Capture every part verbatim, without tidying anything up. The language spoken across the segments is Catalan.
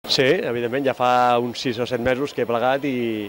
Sí, evidentment, ja fa uns sis o set mesos que he plegat i,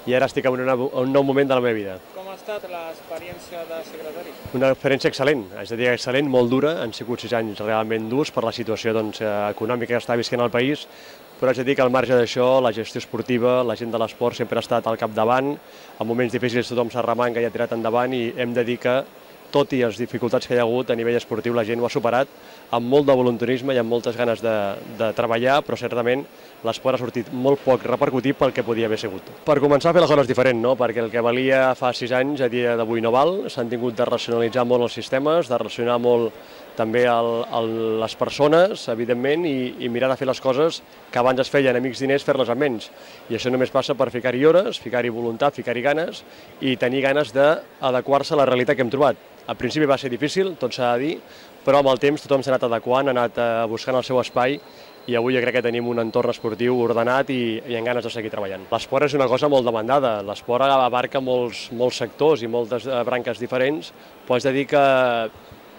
i ara estic en una, un nou moment de la meva vida. Com ha estat l'experiència de secretari? Una experiència excel·lent, és a dir, excel·lent, molt dura, han sigut sis anys realment durs per la situació doncs, econòmica que està visquent el país, però haig de dir que al marge d'això, la gestió esportiva, la gent de l'esport sempre ha estat al capdavant, en moments difícils tothom s'arremanga i ha tirat endavant i hem de dir que, tot i les dificultats que hi ha hagut a nivell esportiu, la gent ho ha superat amb molt de voluntarisme i amb moltes ganes de, de treballar, però certament l'esport ha sortit molt poc repercutit pel que podia haver sigut. Per començar a fer les coses diferent, no? Perquè el que valia fa sis anys a dia d'avui no val, s'han tingut de racionalitzar molt els sistemes, de racionar molt també el, el, les persones, evidentment, i, i mirar de fer les coses que abans es feien amics diners, fer-les amb menys. I això només passa per ficar-hi hores, ficar-hi voluntat, ficar-hi ganes i tenir ganes d'adequar-se a la realitat que hem trobat. Al principi va ser difícil, tot s'ha de dir, però amb el temps tothom s'ha anat adequant, ha anat buscant el seu espai i avui jo crec que tenim un entorn esportiu ordenat i, i amb ganes de seguir treballant. L'esport és una cosa molt demandada, l'esport abarca molts, molts sectors i moltes branques diferents, però haig de dir que,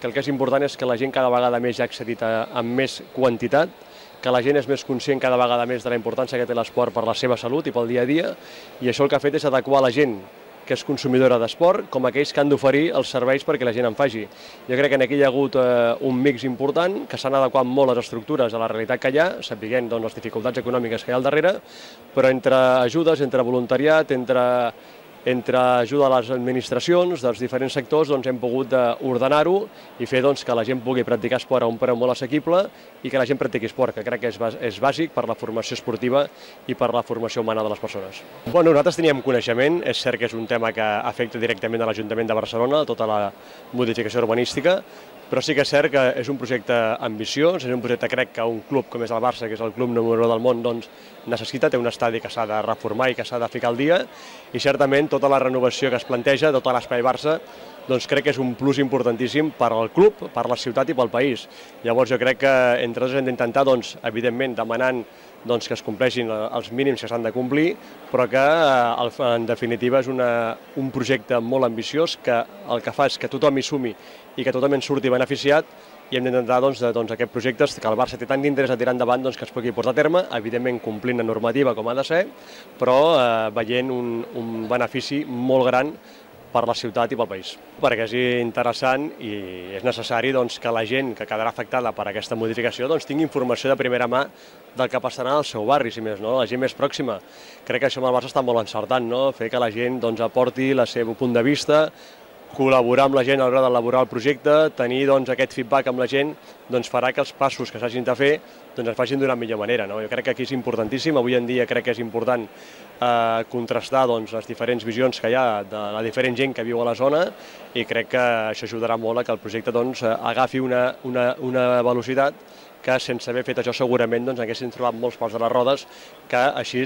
que el que és important és que la gent cada vegada més ja ha accedit a, amb més quantitat, que la gent és més conscient cada vegada més de la importància que té l'esport per la seva salut i pel dia a dia, i això el que ha fet és adequar la gent que és consumidora d'esport, com aquells que han d'oferir els serveis perquè la gent en faci. Jo crec que aquí hi ha hagut eh, un mix important, que s'han adequat molt les estructures a la realitat que hi ha, sapiguent doncs, les dificultats econòmiques que hi ha al darrere, però entre ajudes, entre voluntariat, entre, entre ajuda a les administracions dels diferents sectors, doncs, hem pogut ordenar-ho i fer doncs, que la gent pugui practicar esport a un preu molt assequible i que la gent practiqui esport, que crec que és, és bàsic per la formació esportiva i per la formació humana de les persones. Bueno, nosaltres teníem coneixement, és cert que és un tema que afecta directament a l'Ajuntament de Barcelona, tota la modificació urbanística, però sí que és cert que és un projecte ambiciós, és un projecte crec que un club com és el Barça, que és el club número u del món, doncs, necessita, té un estadi que s'ha de reformar i que s'ha de ficar al dia, i certament tota la renovació que es planteja, tot l'espai Barça, doncs crec que és un plus importantíssim per al club, per la ciutat i pel país. Llavors jo crec que entre tots hem d'intentar, doncs, evidentment, demanant doncs, que es compleixin els mínims que s'han de complir, però que en definitiva és una, un projecte molt ambiciós que el que fa és que tothom hi sumi i que tothom en surti beneficiat i hem d'intentar doncs, doncs, aquest projecte que el Barça té tant d'interès a tirar endavant doncs, que es pugui portar a terme, evidentment complint la normativa com ha de ser, però eh, veient un, un benefici molt gran per la ciutat i pel país. Perquè és interessant i és necessari doncs, que la gent que quedarà afectada per aquesta modificació doncs, tingui informació de primera mà del que passarà al seu barri, si més no, la gent més pròxima. Crec que això amb el Barça està molt encertant, no? Fer que la gent doncs, aporti el seu punt de vista, col·laborar amb la gent a l'hora d'elaborar el projecte, tenir doncs, aquest feedback amb la gent doncs, farà que els passos que s'hagin de fer doncs, es facin d'una millor manera. No? Jo crec que aquí és importantíssim, avui en dia crec que és important eh, contrastar doncs, les diferents visions que hi ha de la diferent gent que viu a la zona i crec que això ajudarà molt a que el projecte doncs, agafi una, una, una velocitat que sense haver fet això segurament doncs, haguessin trobat molts pals de les rodes que així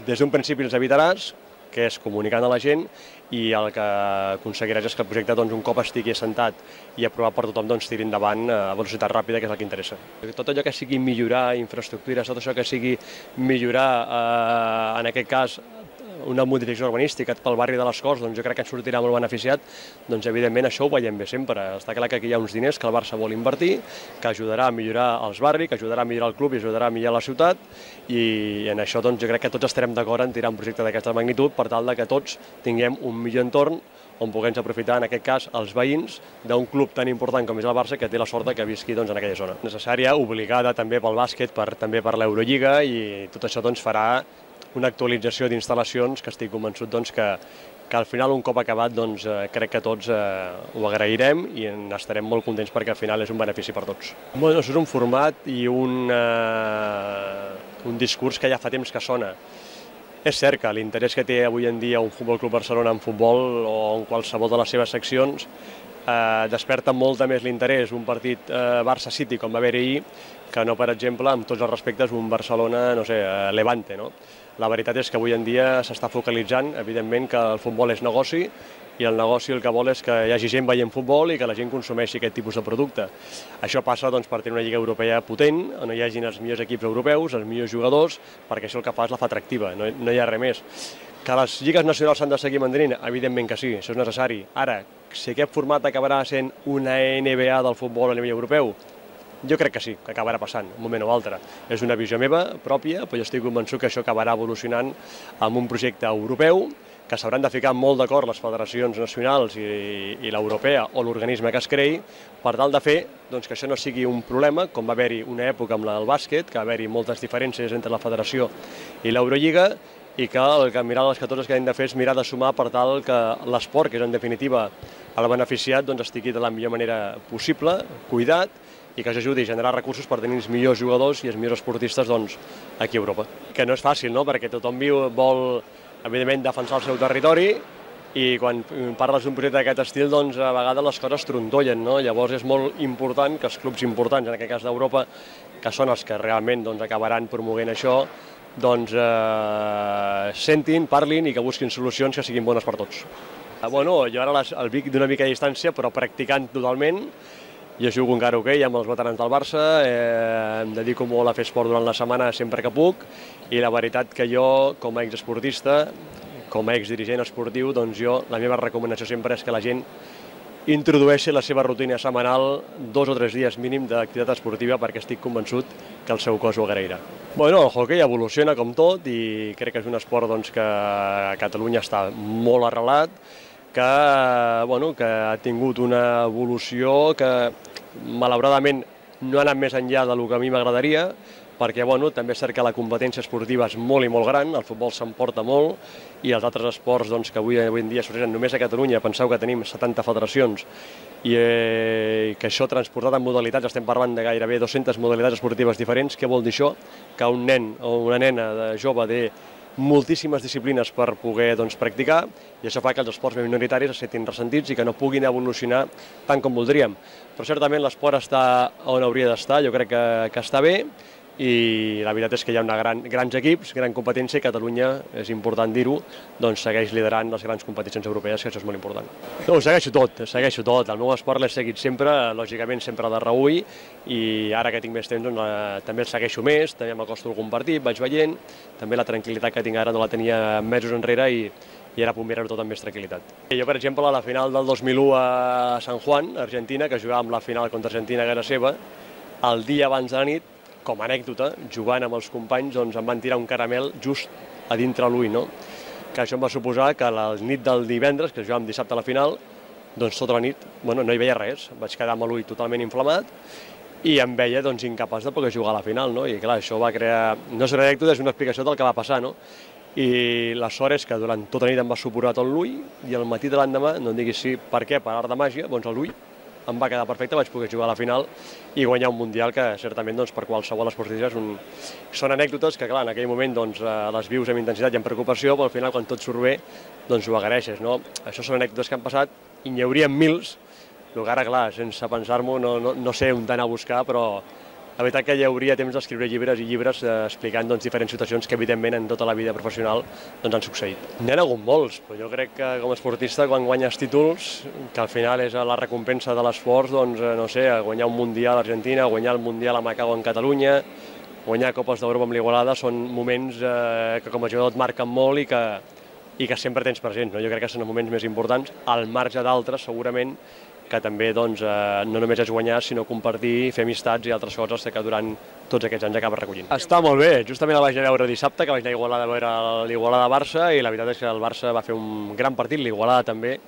des d'un principi els evitaràs, que és comunicant a la gent i el que aconseguiràs és que el projecte doncs, un cop estigui assentat i aprovat per tothom doncs, tiri endavant a velocitat ràpida, que és el que interessa. Tot allò que sigui millorar infraestructures, tot això que sigui millorar, eh, en aquest cas, una modificació urbanística pel barri de les Corts, doncs jo crec que ens sortirà molt beneficiat, doncs evidentment això ho veiem bé sempre. Està clar que aquí hi ha uns diners que el Barça vol invertir, que ajudarà a millorar els barris, que ajudarà a millorar el club i ajudarà a millorar la ciutat, i en això doncs, jo crec que tots estarem d'acord en tirar un projecte d'aquesta magnitud per tal de que tots tinguem un millor entorn on puguem aprofitar, en aquest cas, els veïns d'un club tan important com és el Barça, que té la sort que visqui doncs, en aquella zona. Necessària, obligada també pel bàsquet, per, també per l'Eurolliga, i tot això doncs, farà una actualització d'instal·lacions que estic convençut doncs, que, que al final, un cop acabat, doncs, eh, crec que tots eh, ho agrairem i estarem molt contents perquè al final és un benefici per tots. Bueno, això és un format i un, eh, un discurs que ja fa temps que sona. És cert que l'interès que té avui en dia un Futbol Club Barcelona en futbol o en qualsevol de les seves seccions eh, desperta molt més l'interès un partit eh, Barça-City com va haver ahir que no, per exemple, amb tots els respectes, un Barcelona, no sé, eh, Levante, no? La veritat és que avui en dia s'està focalitzant, evidentment, que el futbol és negoci i el negoci el que vol és que hi hagi gent veient futbol i que la gent consumeixi aquest tipus de producte. Això passa doncs, per tenir una lliga europea potent, on hi hagin els millors equips europeus, els millors jugadors, perquè això el que fa és la fa atractiva, no, no hi ha res més. Que les lligues nacionals s'han de seguir mantenint? Evidentment que sí, això és necessari. Ara, si aquest format acabarà sent una N B A del futbol a nivell europeu, Jo crec que sí, que acabarà passant, un moment o altre. És una visió meva pròpia, però jo estic convençut que això acabarà evolucionant amb un projecte europeu, que s'hauran de ficar molt d'acord les federacions nacionals i, i l'europea o l'organisme que es creï, per tal de fer doncs, que això no sigui un problema, com va haver-hi una època amb el bàsquet, que va haver-hi moltes diferències entre la federació i l'Eurolliga, i que el que mirar les catorze que hem de fer és mirar de sumar per tal que l'esport, que és en definitiva el beneficiat, doncs, estigui de la millor manera possible, cuidat, i que ajudi a generar recursos per tenir els millors jugadors i els millors esportistes doncs, aquí a Europa. Que no és fàcil, no? Perquè tothom viu, vol, evidentment, defensar el seu territori, i quan parles d'un projecte d'aquest estil, doncs, a vegades les coses trontollen, no? Llavors és molt important que els clubs importants, en aquest cas d'Europa, que són els que realment doncs, acabaran promovent això, doncs eh, sentin, parlin i que busquin solucions que siguin bones per tots. Bueno, jo ara les, el Vic d'una mica de distància, però practicant totalment. Jo jugo encara a hoquei amb els veterans del Barça, eh, em dedico molt a fer esport durant la setmana sempre que puc, i la veritat que jo, com a exesportista, com a exdirigent esportiu, doncs jo, la meva recomanació sempre és que la gent introdueixi la seva rutina setmanal dos o tres dies mínim d'activitat esportiva, perquè estic convençut que el seu cos ho agrairà. Bueno, el hoquei evoluciona com tot i crec que és un esport doncs, que a Catalunya està molt arrelat, que, bueno, que ha tingut una evolució que malauradament no ha anat més enllà del que a mi m'agradaria, perquè bueno, també és cert que la competència esportiva és molt i molt gran, el futbol s'emporta molt, i els altres esports doncs, que avui, avui en dia s'organitzen només a Catalunya, penseu que tenim setanta federacions, i eh, que això transportat en modalitats, estem parlant de gairebé dues-centes modalitats esportives diferents. Què vol dir això? Que un nen o una nena de jove té moltíssimes disciplines per poder doncs, practicar, i això fa que els esports minoritaris es sentin ressentits i que no puguin evolucionar tant com voldríem. Però certament l'esport està on hauria d'estar, jo crec que, que està bé, i la veritat és que hi ha una gran, grans equips, gran competència, i Catalunya, és important dir-ho, doncs segueix liderant les grans competicions europees, que això és molt important. No, ho segueixo tot, segueixo tot. El meu esport l'he seguit sempre, lògicament sempre de reüll, i ara que tinc més temps doncs, eh, també el segueixo més, també m'acosto a algun partit, vaig veient, també la tranquil·litat que tinc ara no la tenia mesos enrere, i, i ara puc mirar-ho tot amb més tranquil·litat. Jo, per exemple, a la final del dos mil u a San Juan, Argentina, que jugàvem la final contra Argentina a casa seva, el dia abans de la nit, com a anècdota, jugant amb els companys, doncs em van tirar un caramel just a dintre l'ull, no? Que això em va suposar que la nit del divendres, que jugàvem dissabte a la final, doncs tota la nit bueno, no hi veia res, vaig quedar amb l'ull totalment inflamat i em veia doncs, incapaç de poder jugar a la final, no? I clar, això va crear... No és una anècdota, és una explicació del que va passar, no? I la sort és que durant tota la nit em va supurar tot l'ull i al matí de l'endemà, no em diguis sí, per què, per art de màgia, doncs l'ull em va quedar perfecte, vaig poder jugar a la final i guanyar un Mundial que certament doncs, per qualsevol esportista un... són anècdotes que clar, en aquell moment doncs, les vius amb intensitat i amb preocupació, però al final quan tot surt bé doncs ho agraeixes. No? Això són anècdotes que han passat i n'hi haurien mils, però ara clar, sense pensar-m'ho no, no, no sé on anar a buscar, però la veritat que hi hauria temps d'escriure llibres i llibres eh, explicant doncs, diferents situacions que evidentment en tota la vida professional doncs, han succeït. N'hi ha hagut molts, però jo crec que com a esportista quan guanyes títols, que al final és la recompensa de l'esforç, doncs no sé, guanyar un Mundial a Argentina, guanyar el Mundial a Macau en Catalunya, guanyar Copes d'Europa amb l'Igualada, són moments eh, que com a jugador et marquen molt i que, i que sempre tens present. No? Jo crec que són els moments més importants, al marge d'altres segurament, que també doncs, eh, no només és guanyar, sinó compartir, fer amistats i altres coses que durant tots aquests anys acabes recollint. Està molt bé, justament la vaig veure dissabte, que vaig anar a Igualada a veure l'Igualada-Barça, i la veritat és que el Barça va fer un gran partit, l'Igualada també,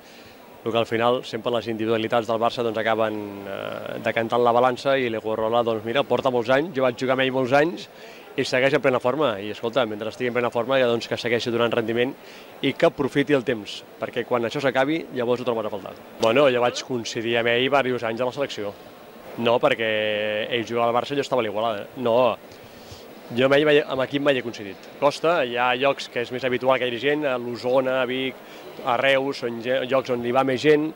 el que al final sempre les individualitats del Barça doncs, acaben eh, decantant la balança, i l'Igualada, doncs mira, porta molts anys, jo vaig jugar amb ell molts anys, i segueix en plena forma, i escolta, mentre estigui en plena forma, ja, doncs, que segueixi donant rendiment i que aprofiti el temps, perquè quan això s'acabi, llavors ho trobes a faltar. Bueno, jo vaig coincidir amb ell diversos anys a la selecció. No, perquè ell jugava al Barça i jo estava a l'Igualada. No, jo amb, ell, amb aquí mai he coincidit. Costa, hi ha llocs que és més habitual que hi hagi gent, a l'Osona, a Vic, a Reus, són llocs on hi va més gent,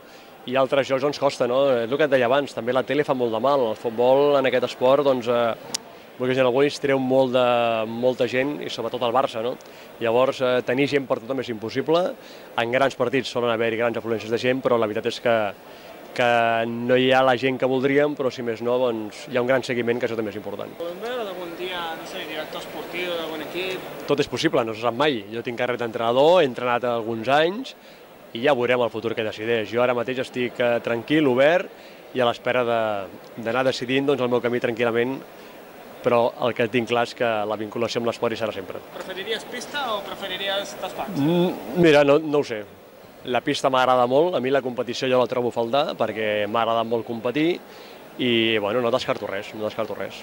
i altres llocs on costa, no? És el que et deia abans, també la tele fa molt de mal. El futbol en aquest esport, doncs, eh, perquè en alguns treu molt de, molta gent, i sobretot el Barça, no? Llavors, eh, tenir gent per tothom és impossible. En grans partits solen haver-hi grans afluències de gent, però la veritat és que, que no hi ha la gent que voldríem, però si més no, doncs, hi ha un gran seguiment, que això també és important. Podem veure algun dia, no sé, director esportiu d'algun equip? Tot és possible, no se sap mai. Jo tinc carret d'entrenador, he entrenat alguns anys, i ja veurem el futur que decideix. Jo ara mateix estic eh, tranquil, obert, i a l'espera d'anar decidint doncs, el meu camí tranquil·lament, però el que tinc clar és que la vinculació amb l'esport hi serà sempre. Preferiries pista o preferiries despatx? Mm, mira, no, no ho sé. La pista m'agrada molt, a mi la competició jo la trobo a faltar perquè m'ha agradat molt competir i bueno, no descarto res, no descarto res.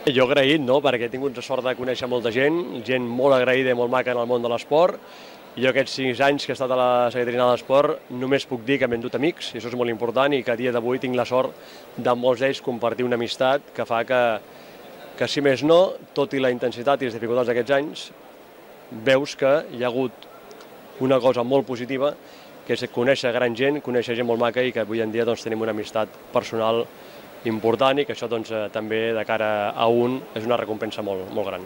Jo agraït, no?, perquè he tingut la sort de conèixer molta gent, gent molt agraïda i molt maca en el món de l'esport. Jo aquests sis anys que he estat a la Secretaria General d'Esport només puc dir que m'he endut amics, i això és molt important, i que a dia d'avui tinc la sort de molts d'ells compartir una amistat que fa que, que si més no, tot i la intensitat i les dificultats d'aquests anys, veus que hi ha hagut una cosa molt positiva, que és conèixer gran gent, conèixer gent molt maca i que avui en dia doncs, tenim una amistat personal important i que això doncs, també de cara a un és una recompensa molt, molt gran.